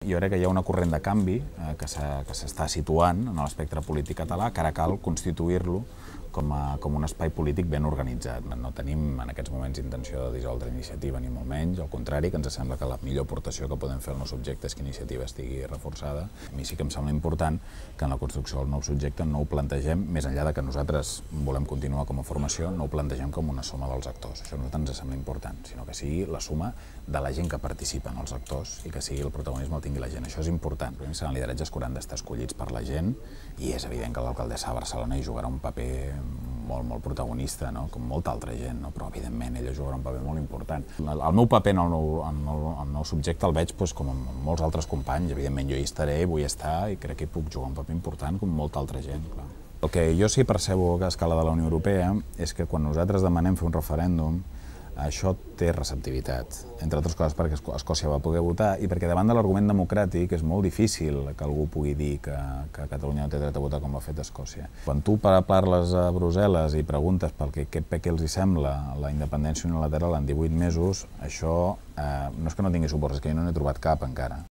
Jo crec que hi ha una corrent de canvi que s'està situant en l'espectre polític català, que ara cal constituir-lo com un espai polític ben organitzat. No tenim en aquests moments intenció de dissoldre Iniciativa, ni molt menys, al contrari, que ens sembla que la millor aportació que podem fer al nou subjecte és que Iniciativa estigui reforçada. A mi sí que em sembla important que en la construcció del nou subjecte no ho plantegem, més enllà de que nosaltres volem continuar com a formació, no ho plantegem com una suma dels actors. Això a nosaltres ens sembla important, sinó que sigui la suma de la gent que participa en els actors i que sigui el protagonisme el tingui la gent. Això és important. Primer seran lideratges que hauran d'estar escollits per la gent i és evident que l'alcaldessa de Barcelona hi jugarà un paper molt protagonista, com molta altra gent, però evidentment ella jugarà un paper molt important. El meu paper en el nou subjecte el veig com amb molts altres companys, evidentment jo hi estaré, vull estar i crec que hi puc jugar un paper important com molta altra gent. El que jo sí percebo a escala de la Unió Europea és que quan nosaltres demanem fer un referèndum això té receptivitat, entre altres coses perquè Escòcia va poder votar i perquè davant de l'argument democràtic és molt difícil que algú pugui dir que Catalunya no té dret a votar com ho ha fet Escòcia. Quan tu parles a Brussel·les i preguntes per què els hi sembla la independència unilateral en 18 mesos, això no és que no tingui suport, és que jo no n'he trobat cap encara.